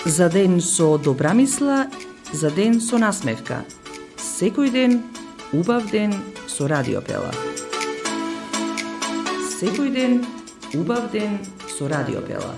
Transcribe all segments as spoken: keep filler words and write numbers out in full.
За ден со добра мисла, за ден со насмевка. Секој ден, убав ден со Радио Пела. Секој ден, убав ден со Радио Пела.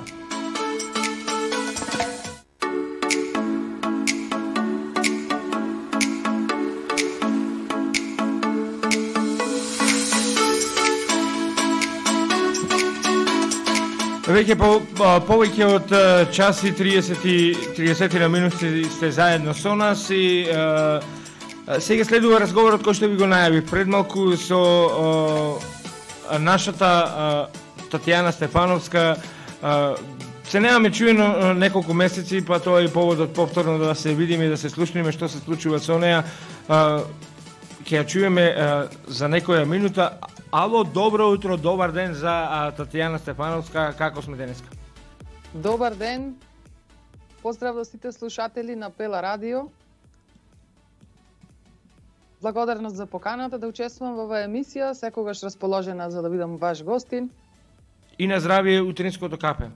Веќе по, повеќе од час и триесет на минути сте заедно со нас и е, сега следува разговорот кој што ви го најавив пред малку со е, нашата е, Татјана Стефановска. Е, се немаме чуено неколку месеци, па тоа е поводот повторно да се видиме и да се слушнеме што се случува со неа. Е, Ќе ја чуеме е, за некоја минута. Ало, добро утро, добар ден за а, Татјана Стефановска, како сме денеска? Добар ден, поздрав до сите слушатели на Пела Радио. Благодарност за поканата да учествувам во оваа емисија, секогаш расположена за да бидам ваш гостин. И на здравие утринското капе.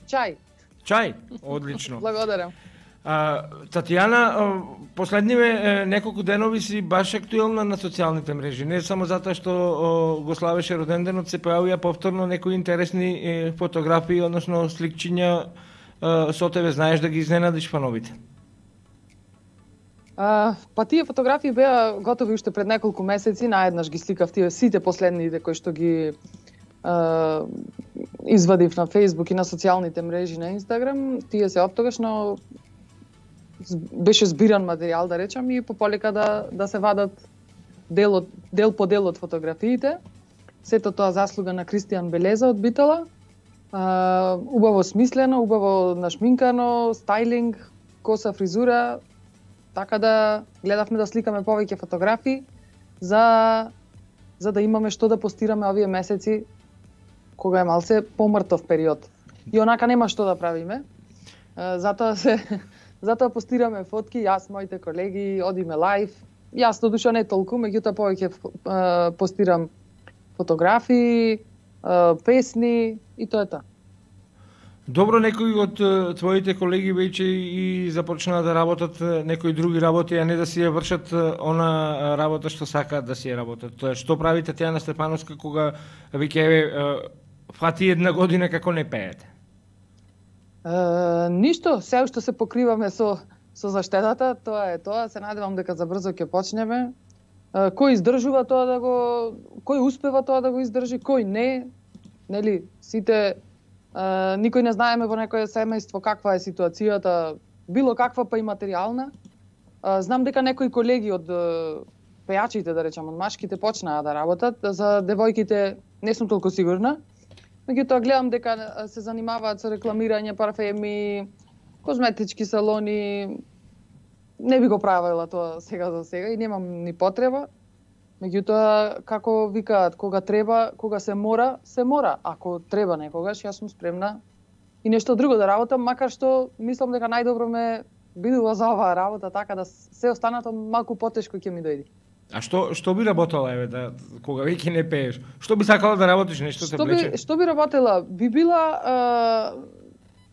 Чај. Чај, одлично. Благодарам. А, Татјана, последниве неколку денови си баш актуелна на социјалните мрежи. Не само затоа што о, го славеше роденденот, се појавија повторно некои интересни е, фотографии, односно сликчиња е, со тебе. Знаеш да ги изненадиш фановите? А, па тие фотографии беа готови уште пред неколку месеци, наеднаш ги сликав тие сите последните кои што ги а, извадив на Facebook и на социјалните мрежи на Instagram. Тие се оттогаш, но беше збиран материјал, да речам, и пополека да, да се вадат дел, од, дел по дел од фотографиите. Сето тоа заслуга на Кристијан Белеза од Битола. А, убаво смислено, убаво нашминкано, стайлинг, коса, фризура, така да гледавме да сликаме повеќе фотографии за, за да имаме што да постираме овие месеци кога е малце помртов период. И онака нема што да правиме. А, затоа се Затоа постираме фотки, јас, моите колеги, одиме лайв. Јас до душа не толку, меѓутоа повеќе постирам фотографии, песни и тоа е тоа. Добро, некои од твоите колеги веќе и започнаа да работат некои други работи, а не да си ја вршат она работа што сакаат да си ја работат. Тоа што прави Татјана Стефановска кога веќе фати една година како не пеете? Uh, ништо, се уште се покриваме со, со заштедата, тоа е тоа, се надевам дека забрзо ќе почнеме. Uh, кој издржува тоа да го, кој успева тоа да го издржи, кој не, нели, сите, uh, никој не знаеме во некое семејство каква е ситуацијата, било каква па и материјална. Uh, знам дека некои колеги од uh, пејачите, да речам, од машките почнаа да работат, за девојките не сум толку сигурна. Меѓутоа гледам дека се занимаваат со рекламирање, парфеми, козметички салони. Не би го правила тоа сега за сега и немам ни потреба. Меѓутоа, како викаат, кога треба, кога се мора, се мора. Ако треба некогаш, јас сум спремна и нешто друго да работам, макар што мислам дека најдобро ме бидува за оваа работа, така да се останато малку потешко ќе ми дојде. А што што би работела еве да кога веќе не пееш? Што би сакала да работиш, нешто те влече? Би, што би работела? Би била е,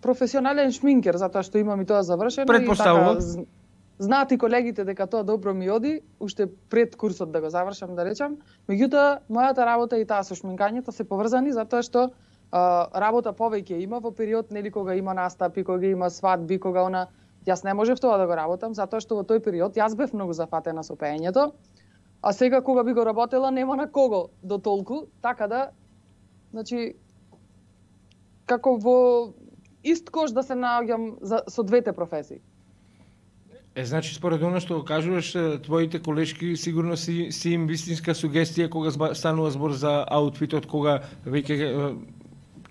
професионален шминкер, затоа што имам и тоа завршено. Предпоставувам. Така, знаат и колегите дека тоа добро ми оди, уште пред курсот да го завршам, да речам. Меѓутоа, мојата работа и таа со шминкањето се поврзани затоа што е, работа повеќе има во период, нели, кога има настапи, кога има свадби, кога она јас не можев тоа да го работам затоа што во тој период јас бев многу зафатена со пеењето. А сега кога би го работела нема на кого до толку, така да, значи, како во ист кош да се наоѓам за, со двете професии. Е, значи, според оно што кажуваш, твоите колешки сигурно си, си им вистинска сугестија кога станува збор за аутфитот, кога веќе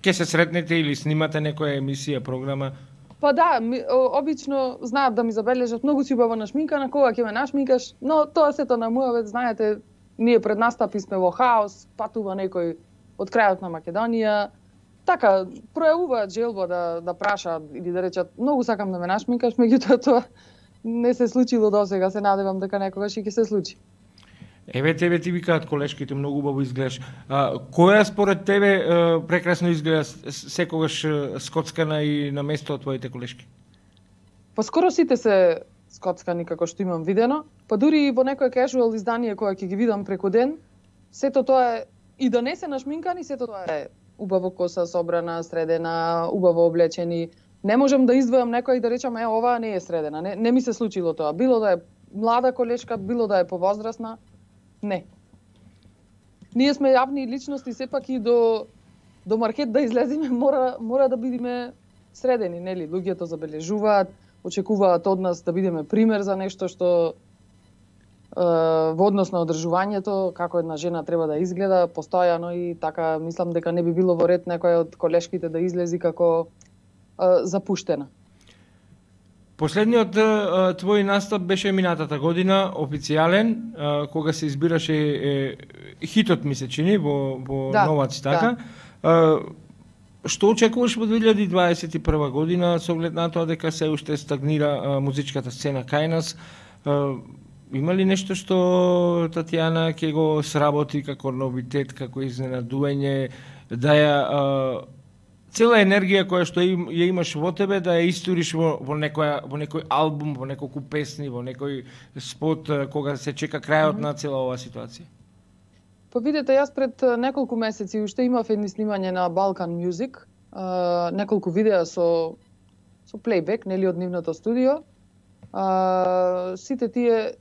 ќе се сретнете или снимате некоја емисија, програма. Па да, ми, обично знаат да ми забележат многу си убаво нашминкана, кога ќе ме нашминкаш, но тоа сето на муавет, знаете, ние пред настапи сме во хаос, патува некој од крајот на Македонија, така, пројавуваат желба да, да прашаат или да речат, многу сакам да ме нашминкаш, меѓутоа тоа не се случило досега, се надевам дека некогаш и ќе се случи. Еве тебе ти викаат колешките, многу убаво изгледаш. А, која според тебе а, прекрасно изгледа секогаш скоцкана и на место од твоите колешки? Па скоро сите се скоцкани како што имам видено, па дури и во некое casual издание кое ќе ги видам преку ден, сето тоа е и да не се нашминкани, сето тоа е убаво коса собрана, средена, убаво облечени. Не можам да издвојам некој и да речам е оваа не е средена. Не, не ми се случило тоа. Било да е млада колешка, било да е повозрасна. Не. Ние сме јавни личности, сепак и до до маркет да излеземе мора мора да бидеме средени, нели? Луѓето забележуваат, очекуваат од нас да бидеме пример за нешто што е, во однос на одржувањето, како една жена треба да изгледа постојано и така мислам дека не би било во ред некој од колешките да излези како е, запуштена. Последниот uh, твој настап беше минатата година, официјален, uh, кога се избираше е, хитот ми се чини во, во да, нова цитака. Да. Uh, што очекуваш во две илјади дваесет и прва година со оглед на тоа дека се уште стагнира uh, музичката сцена кај нас? Uh, има ли нешто што Татјана ќе го сработи како новитет, како изненадување, да ја uh, цела енергија која што им, ја имаш во тебе да ја историш во, во, некоја, во некој албум, во неколку песни, во некој спот кога се чека крајот mm -hmm. на цела оваа ситуација? Па видете, јас пред неколку месеци уште имав едни снимање на Balkan Music, а, неколку видеа со со плейбек, нели од нивното студио. А, сите тие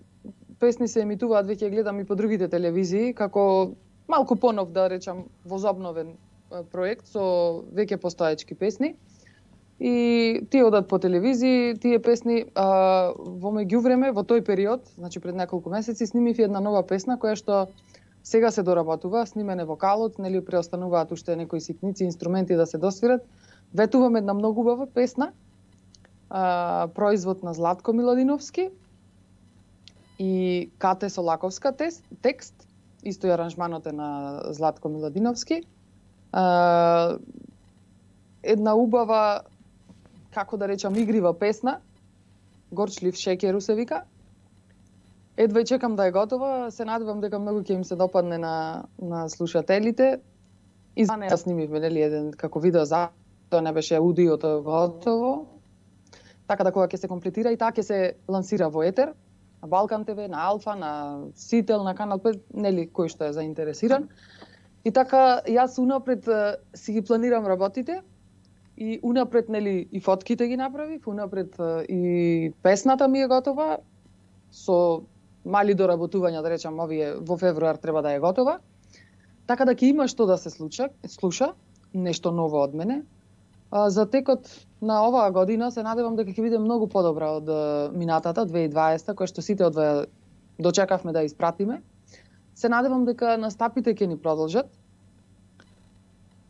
песни се емитуваат, веќе гледам и по другите телевизии, како малку понов да речам возобновен проект со веќе постоечки песни. И тие одат по телевизии, тие песни а, во меѓувреме, во тој период, значи пред неколку месеци, снимив една нова песна која што сега се доработува, снимен е вокалот, нели преостануваат уште некои ситници, инструменти да се досвират. Ветувам една многу убава песна, а, производ на Златко Миладиновски и Кате Солаковска текст, исто и аранжманот е на Златко Миладиновски. Uh, една убава, како да речам, игрива песна, Горчлив шекеру се вика. Едва и чекам да е готова, се надевам дека многу ќе им се допадне на, на слушателите. И за неја снимивме, нели, еден како видео за тоа не беше аудиото готово. Така да кога ќе се комплетира и таа ќе се лансира во етер, на Балкан ТВ, на Алфа, на Сител, на Канал пет, нели, кој што е заинтересиран. И така, јас унапред си ги планирам работите и унапред, нели, и фотките ги направив, унапред и песната ми е готова, со мали доработувања, да речам, овие во февруар треба да е готова. Така да ќе има што да се случа, слуша, нешто ново од мене. А, за текот на оваа година се надевам дека ќе биде многу подобра од минатата, две илјади и дваесета, која што сите одваја дочекавме да испратиме. Се надевам дека настапите ќе ни продолжат.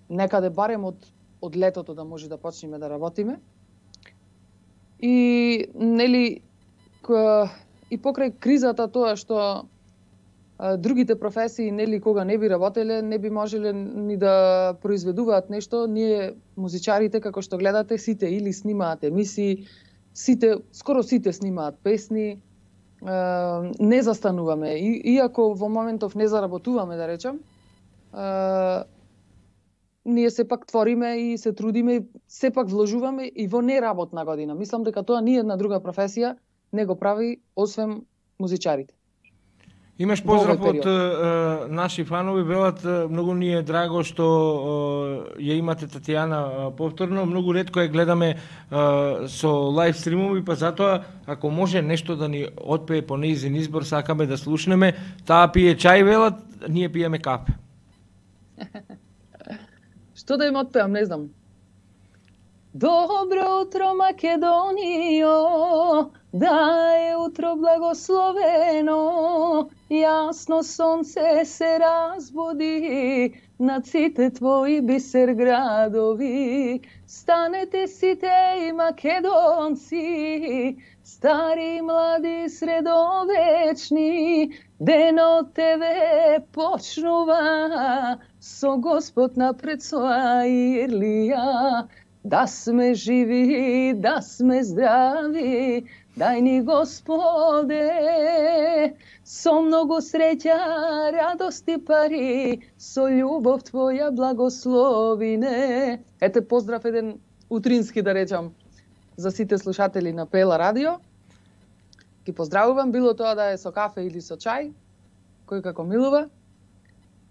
Некаде барем од, од летото да може да почнеме да работиме. И, нели, и покрај кризата тоа што а, другите професии, нели, кога не би работеле, не би можеле ни да произведуваат нешто, ние, музичарите, како што гледате, сите или снимаат емисии, сите, скоро сите снимаат песни, не застануваме. И, иако во моментов не заработуваме, да речам, е, ние сепак твориме и се трудиме, сепак вложуваме и во неработна година. Мислам дека тоа ни една друга професија не го прави, освен музичарите. Имаш поздрав од uh, наши фанови, велат, многу ни е драго што uh, ја имате Татјана uh, повторно, многу ретко ја гледаме uh, со лайв стримови, па затоа ако може нешто да ни отпее по нејзин избор, сакаме да слушнеме. Таа пие чај, велат, ние пиеме кафе. Што да им отпеам, не знам. Добро утро, Македонијо, да е утро благословено, јасно сонце се разбуди над сите твои бисер градови. Станете сите и македонци, стари, млади, средовечни, денот тебе почнува, со Господ напред своја ирлија. Да сме живи, да сме здрави, дај ни Господе, со многу среќа, радост и пари, со љубов Твоја благословине. Ете поздрав еден утрински, да речам, за сите слушатели на Пела радио. Ги поздравувам, било тоа да е со кафе или со чај, кој како милува.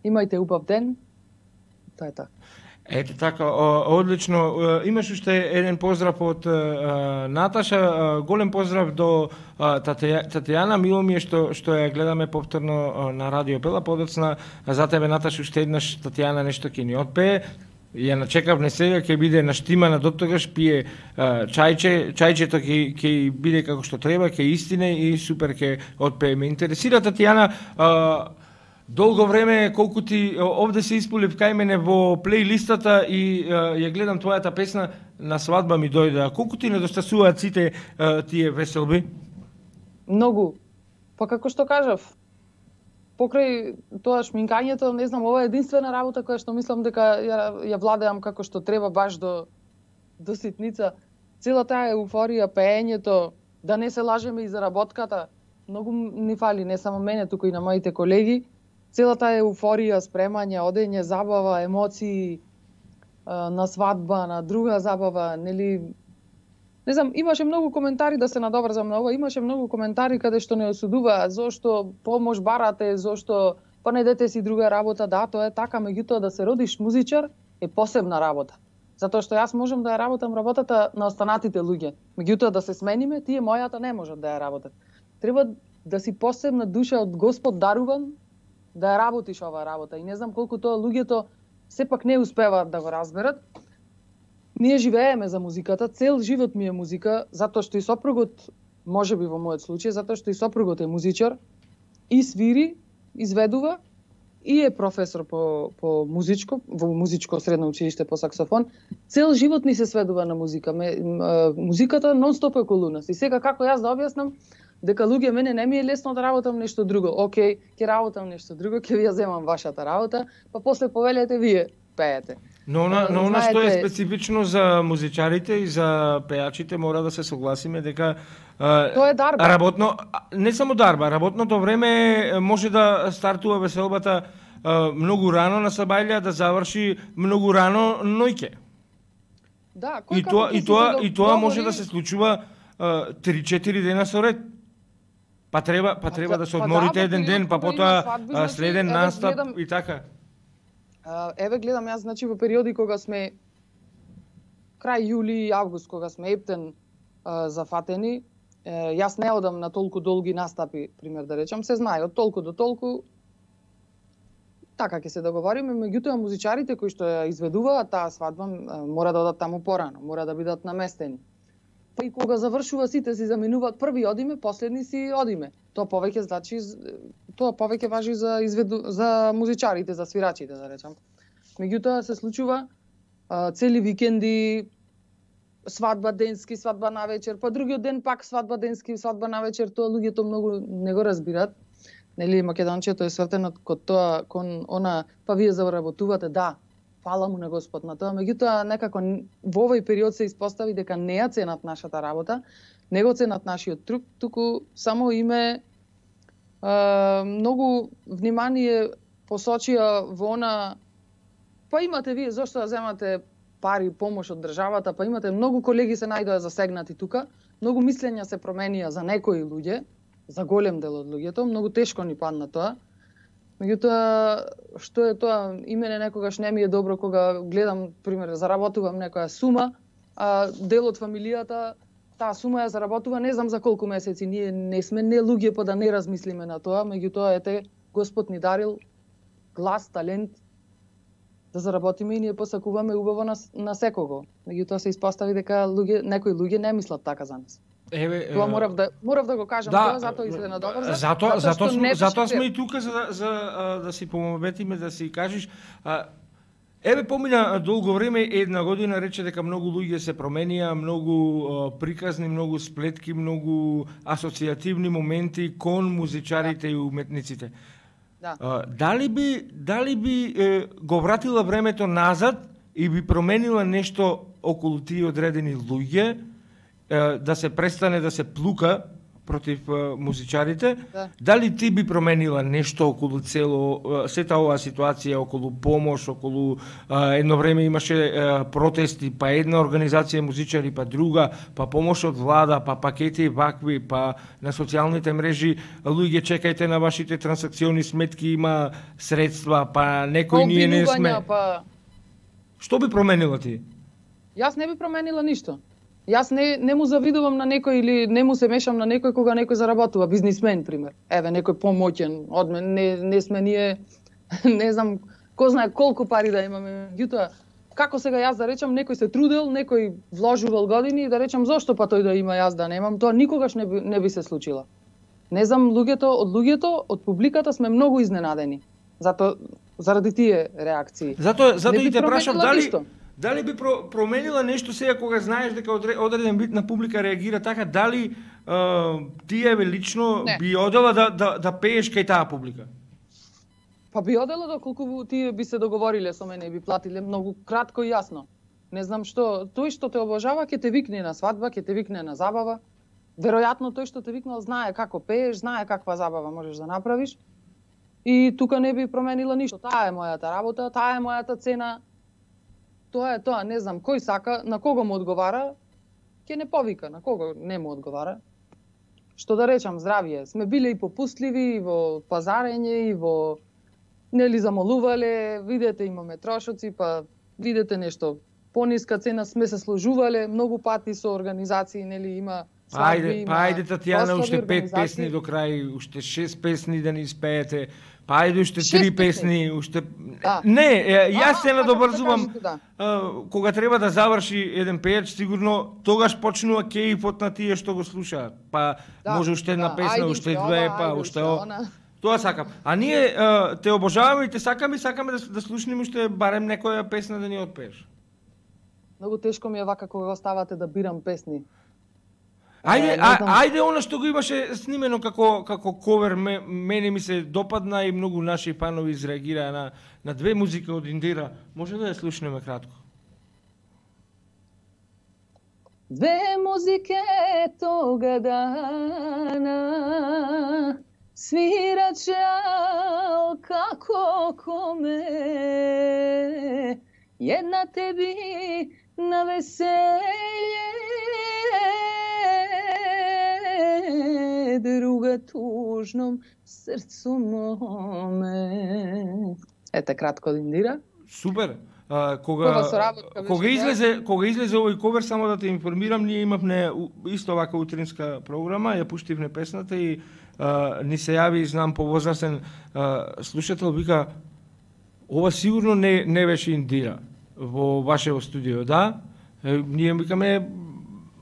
Имајте убав ден. Тоа е тоа. Ете така, одлично. Имаш уште еден поздрав од Наташа, голем поздрав до Татјана. Мило ми е што што ја гледаме повторно на Радио Пела, подоцна за тебе Наташа уште еднаш Татјана нешто ќе ни отпее. Ја начекав не сега, ќе биде наштимана доттогаш, пие чајче, чајчето ќе ќе биде како што треба, ќе истине и супер ќе отпее. Ме интересира Татјана, долго време колку ти овде се исполив кај мене во плейлистата и ја гледам твојата песна на свадба ми дојде. Колку ти недостасуваат сите тие веселби? Многу. Па како што кажав, покрај тоа шминкањето, не знам, ова е единствена работа која што мислам дека ја, ја владеам како што треба баш до до ситница. Цела таа еуфорија, пеењето, да не се лажеме и заработката, многу ни фали, не само мене, туку и на моите колеги. Целата еуфорија, спремање, одење, забава, емоции, на свадба, на друга забава, нели... Не знам, имаше многу коментари, да се надоврзам на ова, имаше многу коментари каде што не осудуваат, зошто помош барате, зошто па не дете си друга работа, да, тоа е така, меѓутоа да се родиш музичар е посебна работа. Затоа што јас можам да ја работам работата на останатите луѓе. Меѓутоа да се смениме, тие мојата не можат да ја работат. Треба да си посебна душа од Господ даруван, да ја работиш оваа работа. И не знам колку тоа луѓето сепак не успеваат да го разберат. Ние живееме за музиката, цел живот ми е музика, затоа што и сопругот, можеби во мојот случај, затоа што и сопругот е музичар, и свири, изведува, и е професор по, по музичко, во музичко средно училиште по саксофон. Цел живот ни се сведува на музика. Ме, музиката нон-стоп е околу нас. И сега како јас да објаснам, дека луѓе мене не ми е лесно да работам нешто друго. Океј, ќе работам нешто друго, ќе ви ја земам вашата работа, па после повелете вие пеете. Но на, но она што е специфично за музичарите и за пејачите, мора да се согласиме дека тоа е дарба. Работно, не само дарба, работното време може да стартува веселбата многу рано на сабајлија, да заврши многу рано ноќе. Да, и тоа и тоа и тоа може да се случува три-четири дена со ред. Па треба, па треба да се одморите еден ден, па потоа следен настап и така. Еве гледам јас, значи во периоди кога сме крај јули и август, кога сме ептен зафатени, јас не одам на толку долги настапи, пример да речам, се знае, од толку до толку така ќе се договориме, меѓутоа музичарите кои што ја изведуваат таа свадба мора да одат таму порано, мора да бидат наместени. Па и кога завршува сите си заминуваат, први одиме, последни си одиме. Тоа повеќе значи тоа повеќе важи за изведу за музичарите, за свирачите, да речам. Меѓутоа се случува а, цели викенди, свадба денски, свадба на вечер, па другиот ден пак свадба денски, свадба на вечер, тоа луѓето многу не го разбират. Нели македончето е свртено кон тоа, кон она, па вие заработувате, да. Фала му на Господ на тоа, меѓутоа некако во овој период се испостави дека не ја ценат нашата работа, не го ценат нашиот труд, туку само име е, многу внимание посочија во она, па имате вие зошто да земате пари, помош од државата, па имате многу колеги се најдоа засегнати тука, многу мислења се променија за некои луѓе, за голем дел од луѓето, многу тешко ни падна тоа. Меѓутоа, што е тоа, и мене некогаш не ми е добро кога гледам, пример, заработувам некоја сума, а дел од фамилијата, таа сума ја заработува не знам за колку месеци. Ние не сме не луѓе па да не размислиме на тоа, меѓутоа ете Господ ни дарил глас, талент да заработиме и ние посакуваме убаво на, на секого. Меѓутоа се испостави дека луѓе, некои луѓе не мислат така за нас. Еве, тоа морав да морав да го кажам, да, тоа затоа изгледа добро. Затоа затоа сме затоа сме и тука за за да си помоветиме, да си кажеш. Еве помина долго време, една година рече дека многу луѓе се променија, многу приказни, многу сплетки, многу асоцијативни моменти кон музичарите и уметниците. Да. Дали би дали би е, го вратила времето назад и би променила нешто околу тие одредени луѓе? Да се престане да се плука против а, музичарите. Да. Дали ти би променила нешто околу цело а, сета оваа ситуација, околу помош, околу а, едно време имаше а, протести, па една организација музичари, па друга, па помош од влада, па пакети вакви, па на социјалните мрежи луѓе чекајте на вашите трансакциони сметки, има средства, па некој ние не сме. Па... Што би променила ти? Јас не би променила ништо. Јас не, не му завидувам на некој или не му се мешам на некој кога некој заработува, бизнисмен, пример. Еве, некој помоќен од мен, не, не сме ние, не знам, кој знае колку пари да имаме. Меѓутоа, како сега јас да речам, некој се трудел, некој вложувал години и да речам зошто па тој да има, јас да немам, тоа никогаш не би, не би се случило. Не знам, луѓето, од луѓето, од публиката сме многу изненадени. Зато, заради тие реакции. Зато, зато и те прашам, дали, ништо. Дали би про, променила нешто сега кога знаеш дека одреден вид на публика реагира така, дали uh, ти еве лично не. би одела да, да, да пееш кај таа публика? Па би одела доколку тие би се договориле со мене и би платиле многу кратко и јасно. Не знам што, тој што те обожава ќе те викне на свадба, ќе те викне на забава. Веројатно тој што те викнал знае како пееш, знае каква забава можеш да направиш. И тука не би променила ништо. Таа е мојата работа, таа е мојата цена. Тоа е тоа, не знам, кој сака, на кого му одговара, ќе не повика, на кого не му одговара. Што да речам, здравје, сме биле и попустливи, и во пазарење, и во, нели, замолувале, видете, имаме трошоци, па видете нешто, пониска цена, сме се сложувале многу пати со организации, нели, има свадби, ајде, има... Па ајде, Татјана, уште пет песни до крај, уште шест песни да ни испеете, па ајде уште три песни, уште... Да. Не, јас се надобрзувам, да. Кога треба да заврши еден пејач, сигурно тогаш почнува кејфот на тие што го слушаат. Па да, може уште една да. песна, ајде, уште две, ова, па ајде, уште она. Тоа сакам. А ние а, те обожаваме и те сакаме и сакаме да, да слушнем уште барем некоја песна да ни отпееш. Многу тешко ми е вака кога оставате да бирам песни. Ајде, а, ајде она што го имаше снимено како како ковер, ме, мене ми се допадна и многу наши фанови изреагираа на на две музика од Индира. Може да ја слушнеме кратко? Две музике тога дана свираче ал како коме, една теби на веселје, друга тужном срцу моме. Ете кратко од Индира. Супер. А, кога кога излезе кога излезе овој ковер, само да те информирам, ние имавме исто вака утринска програма, ја пуштивме песната и а, ни се јави, знам, повозрастен слушател, вика ова сигурно не не беше Индира во вашето студио, да? Е, ние викаме,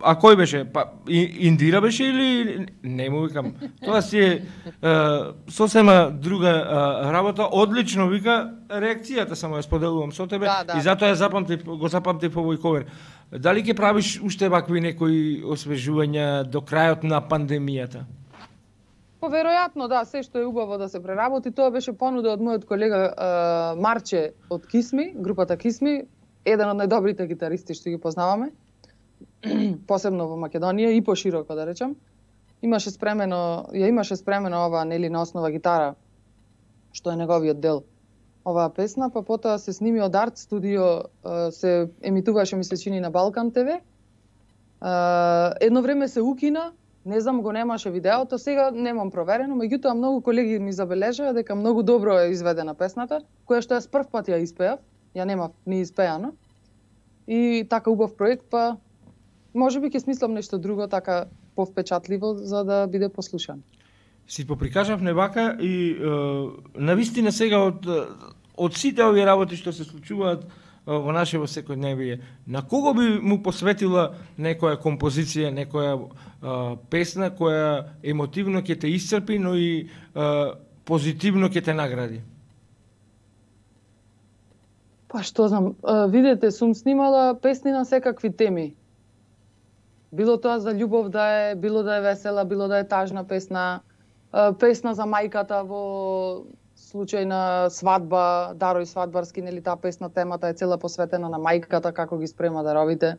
а кој беше? Па Индира беше или не му викам. Тоа си е, е сосема друга е, работа. Одлично вика реакцијата, само ја споделувам со тебе, да, да. И затоа ја запамтив, го запамтив овој ковер. Дали ќе правиш уште вакви некои освежувања до крајот на пандемијата? Па веројатно да, се што е убаво да се преработи, тоа беше понуда од мојот колега е, Марче од Кисми, групата Кисми, еден од најдобрите гитаристи што ги познаваме, посебно во Македонија и пошироко да речам. Имаше спремено, ја имаше спремено ова, нели, на основа гитара, што е неговиот дел. Оваа песна, па потоа се сними од Арт студио, се емитуваше, ми се чини, на Балкан ТВ. Едно време се укина, не знам, го немаше видеото, сега немам проверено, меѓутоа многу колеги ми забележаа дека многу добро е изведена песната, која што јас прв пат ја испеав, ја немав ни испеано. И така убав проект, па може би ќе смислам нешто друго, така повпечатливо, за да биде послушан. Си поприкажавме вака и е, навистина сега од од сите овие работи што се случуваат во нашето секојдневие, на кого би му посветила некоја композиција, некоја е, песна која емотивно ќе те исцрпи, но и е, позитивно ќе те награди? Па што знам, видете, сум снимала песни на секакви теми. Било тоа за љубов да е, било да е весела, било да е тажна песна, песна за мајката во случај на свадба, дарој свадбарски, нели, таа песна, темата е цела посветена на мајката, како ги спрема даровите.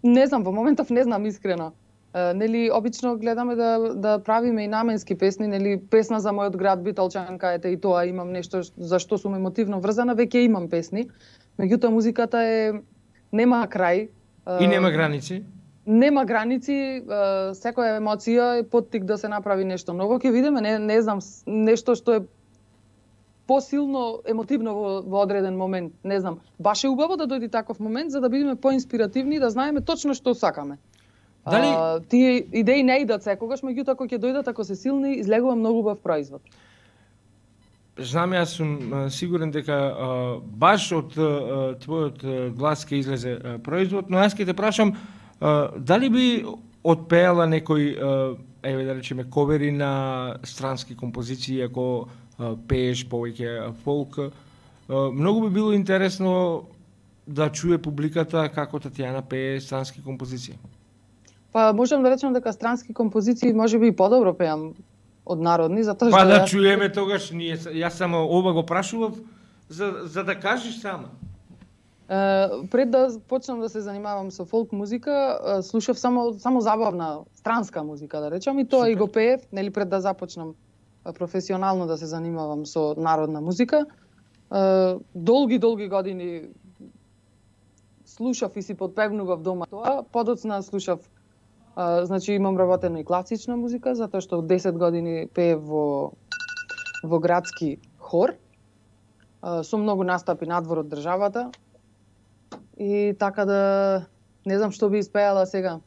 Не знам, во моментов не знам искрено. Uh, нели обично гледаме да да правиме и наменски песни, нели песна за мојот град Битолчанка, ете и тоа имам нешто за што сум емотивно врзана, веќе имам песни. Меѓутоа музиката е нема крај. Uh, И нема граници. Нема граници, uh, секоја емоција е поттик да се направи нешто ново. Ќе видиме, не не знам, нешто што е посилно емотивно во, во одреден момент, не знам. Баш е убаво да дојде таков момент за да бидеме поинспиративни и да знаеме точно што сакаме. Дали... А, тие идеи не идат секогаш, меѓутоа кога ќе дојдат, ако се силни, излегува многу убав производ. Знам, јас сум сигурен дека а, баш од а, твојот глас ќе излезе а, производ, но јас ќе те прашам, а, дали би отпеала некој, а, еве да речеме, ковери на странски композиции, ако а, пееш повеќе фолк, а, многу би било интересно да чуе публиката како Татјана пее странски композиции. Па можам да речам дека странски композиции можеби и подобро пеам од народни, затоа што Па да јас... чуеме тогаш, ние јас само ова го прашував за за да кажеш сама. Uh, пред да почнам да се занимавам со фолк музика, uh, слушав само само забавна странска музика, да речам, и тоа Супер. И го пеев, нели пред да започнам uh, професионално да се занимавам со народна музика. Uh, долги долги години слушав и си подпевнував дома тоа, подоцна слушав Uh, значи имам работена и класична музика, затоа што од десет години пеев во во градски хор. Uh, со многу настапи надвор од државата. И така да не знам што би испеала сега.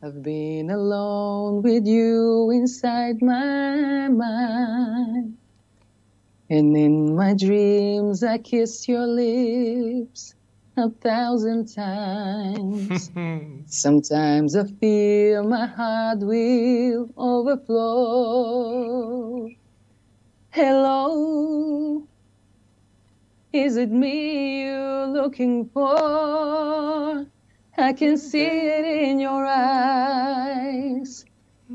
I've been alone with you inside my mind. And in my dreams I kiss your lips a thousand times. Sometimes I feel my heart will overflow. Hello, is it me you're looking for? I can see it in your eyes.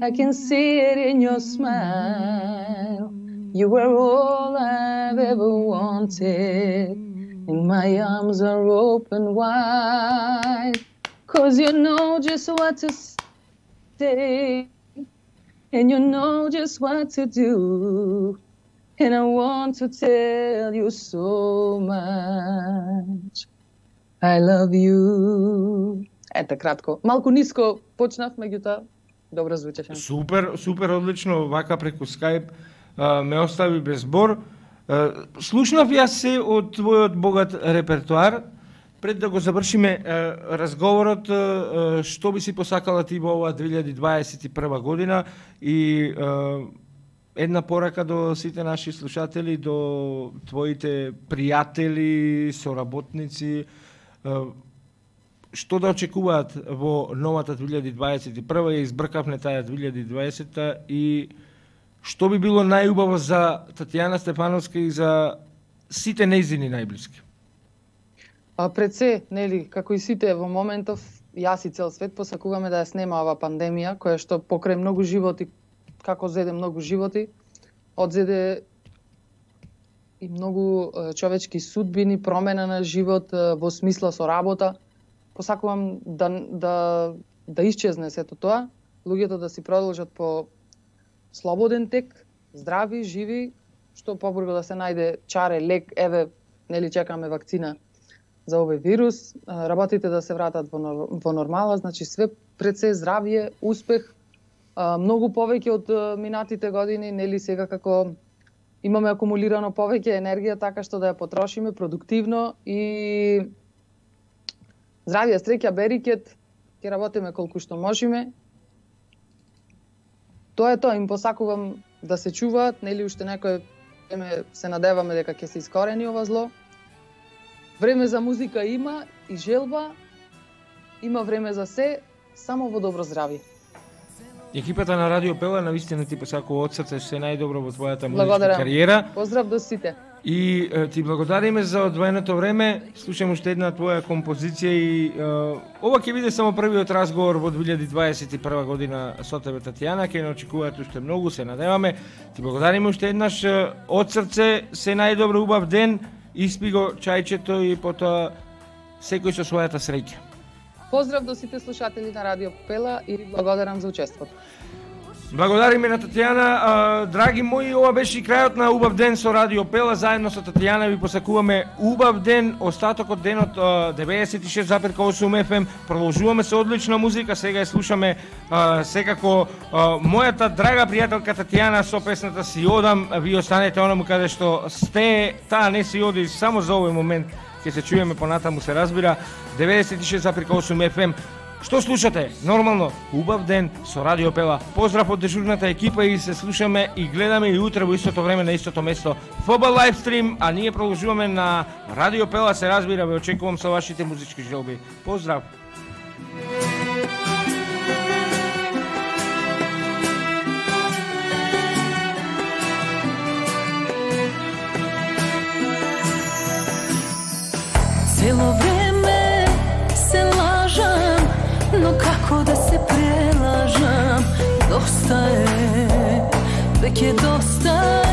I can see it in your smile. You were all I've ever wanted. And my arms are open wide, 'cause you know just what to say, and you know just what to do, and I want to tell you so much. I love you. Ете, кратко. Малку ниско почнав, меѓутоа добро звучеше. Супер, супер, одлично, вака преку Skype а, ме остави без збор. Слушнав јас се од твојот богат репертоар. Пред да го завршиме разговорот, што би си посакала ти во оваа две илјади дваесет и прва година и една порака до сите наши слушатели, до твоите пријатели, соработници, што да очекуваат во новата две илјади дваесет и прва, ја избркавме таа две илјади дваесета и што би било најубаво за Татјана Стефановска и за сите нејзини најблиски? А пред се, нели, како и сите во моментов, јас и цел свет посакуваме да ја снема ова пандемија, која што покрај многу животи, како зеде многу животи, одзеде и многу човечки судбини, промена на живот во смисла со работа. Посакувам да да да исчезне сето тоа, луѓето да си продолжат по слободен тек, здрави, живи, што побрзо да се најде чаре, лек, еве, нели чекаме вакцина за овој вирус, работите да се вратат во, во нормала, значи све пред се здравје, успех, многу повеќе од минатите години, нели сега како имаме акумулирано повеќе енергија, така што да ја потрошиме продуктивно и здравје, среќа, берикет, ќе работиме колку што можеме. Тоа е тоа, им посакувам да се чуваат, нели уште некој време се надеваме дека ќе се искорени ова зло. Време за музика има и желба, има време за се, само во добро здравје. Екипата на Радио Пела навистина ти посакува од срце се најдобро во твојата музичка кариера. Поздрав до сите. И е, ти благодариме за одвоеното време. Слушам уште една твоја композиција и е, ова ќе биде само првиот разговор во две илјади дваесет и прва година со тебе, Татјана. Ќе не очекуваат уште многу, се надеваме. Ти благодариме уште еднаш од срце, се најдобро, убав ден, испи го чајчето и потоа секој со својата среќа. Поздрав до сите слушатели на Радио Пела и ви благодарам за учеството. Благодариме на Татјана. А, драги мои, ова беше и крајот на убав ден со Радио Пела. Заедно со Татјана ви посакуваме убав ден, остаток од денот деветдесет и шест запир осум еф ем. Продолжуваме со одлична музика. Сега ја слушаме а, секако а, мојата драга пријателка Татјана со песната Си одам. Ви останете онаму каде што сте. Таа не си оди само за овој момент. Ќе се чуеме понатаму, се разбира. деветдесет и шест запир осум еф ем. Што слушате? Нормално, убав ден со Радио Пела. Поздрав од дежурната екипа и се слушаме и гледаме и утре во истото време на истото место. ФБ лайвстрим, а ние продолжуваме на Радио Пела, се разбира, ве очекувам со вашите музички желби. Поздрав! Цело време се лажам, но како да се прелажам? Доста е, веќе доста